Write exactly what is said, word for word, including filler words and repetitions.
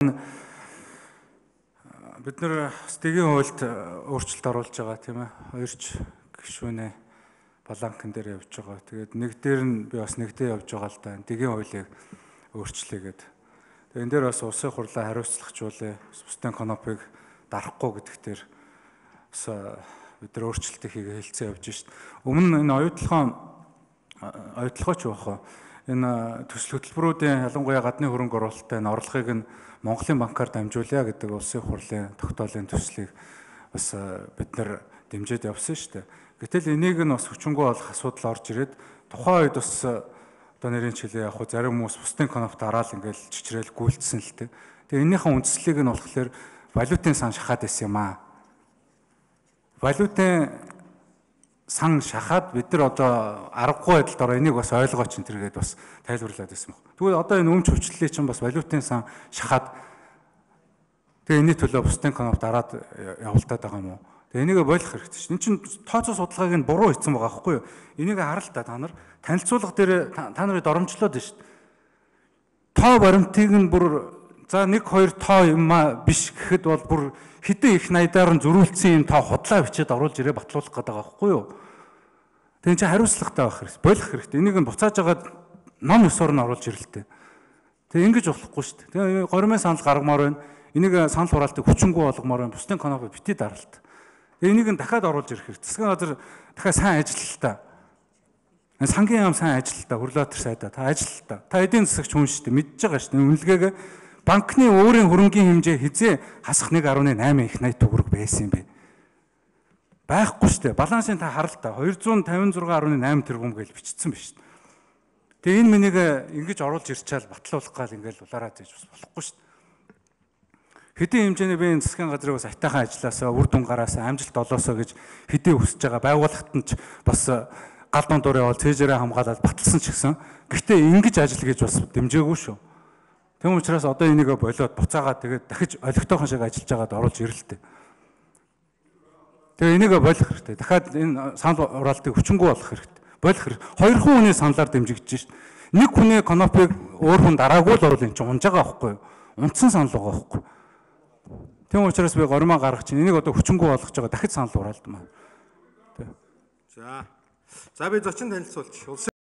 Бид нэр стигийн хуульд өөрчлөлт оруулж байгаа тийм ээ. Хоёрч гишүүнээ баланкн дээр явж байгаа. Тэгээд нэг дээр нь би бас нэгдээ явж байгаа л да. Стигийн хуулийг өөрчлөе гэдэг. Тэгээд энэ дээр бас улсын хурлаа хариуцлагажуулъя. Бусдын конопыг дарахгүй гэдэг дээр бас бид нар өөрчлөлтийг хийгээ хэлцээ явж шít. Өмнө энэ оюутлахын оюутлахаач байх. Энэ төсөл хөтөлбөрүүдийн ялангуяа гадны хөрөнгө оруулалтын орлогыг нь Монголын банкар дамжуулъя гэдэг улсын хурлын тогтоолын төслийг бас бид нар дэмжиж явсан шүү дээ. Гэтэл энийг нь бас хүчингү болох асуудал орж ирээд тухайн үед бас одоо нэрийн чилээ яг хуу зарим хүмүүс бусдын коноп дараал ингээл чичрээл гүйлдсэн л дээ. Тэгээ энэнийхэн үндслийг нь болохоор валютын сан шахаад байсан юм аа. Валютын сан шахаад бид нар одоо аргагүй байдалд ороо энийг бас ойлгооч энэ төргээд бас тайлбарлаад байсан баг. Тэгвэл одоо энэ өмч хвчлэлийг чинь бас валютын сан шахаад тэгээ энэний төлөө бусдын коноп дараад явуултаад байгаа юм уу? Тэгээ энийг болох хэрэгтэй чинь. Энд чинь тооцоо судалгааг нь буруу хийсэн байгаа байхгүй юу? Энийг харал та та нар танилцуулга дээр та нарыг доромжлоод байна шүү дээ. Тоо баримтыг нь бүр за нэг хоёр тоо юм а биш гэхэд бол бүр хэдэн их найдаар нь зөрүүлсэн юм тоо худлаа бичээд оруулж ирээ батлуулах гэдэг байгаа байхгүй юу? Тэгээ чи хариуцлагатай байх хэрэгтэй. Болох хэрэгтэй. Энийг нь буцааж агаад ном ёсоор нь оруулж ирэлтэй. Тэгээ ингэж болохгүй шүү дээ. Тэгээ горимын санал гаргамаар байна. Энийг санал хураалтыг хүчингү болгомоор байна. Бусдын коноп бити даралт. Тэгээ энийг нь дахиад оруулж ирэх хэрэгтэй. Засгийн газар дахиад сайн ажиллалтаа. Сангийн яам сайн ажиллалтаа. Хөрлөтер сайдаа та ажиллалтаа. Та эдийн засагч хүн шүү дээ. Мэдж байгаа шүү дээ. Үнэлгээгээ банкны өөрийн хөрөнгийн хэмжээ хизээ хасах нэг гаруй найман их найт төгрөг байсан юм бэ? Байхгүй шүү дээ. Балансын та харал та хоёр зуун тавин зургаан гаруй найман тэрбум гэж бичсэн байна шүү дээ. Тэгээ энэ мэнийг ингэж оруулж ирчаал батлуулах гал ингээл улаараа зээж бас болохгүй шүү дээ. Хэдийн хэмжээний би энэ засгийн газрыг бас айтайхан ажилласаа, үр дүн гараасаа, амжилт олоосоо гэж хэдий хүсэж байгаа байгууллагт нь ч бас гал дундуур явал цээжээрээ хамгаалаад баталсан ч гэсэн гэхдээ ингэж ажил гэж бас дэмжээгүй шүү. Тэм учраас одоо энийг болоод буцаагаад тэгээд дахиж олигтойхон шиг ажиллаж байгаад оруулж ирэлтэй. Тэгээ энийг болох хэрэгтэй. Дахиад энэ санал хураалтыг хүчингү болох хэрэгтэй. Болох хэрэгтэй. Хоёр хүний саналаар дэмжигдэж шít. Нэг хүний конопыг өөр хүн дараагүй л орвол эн чинь унж байгаа байхгүй юу? Унтсан санал байгаа байхгүй юу? Тэм учраас би гормоо гаргах чинь энийг одоо хүчингү болгож байгаа дахиж санал хураалт маа. За. За би зочин танилцуулж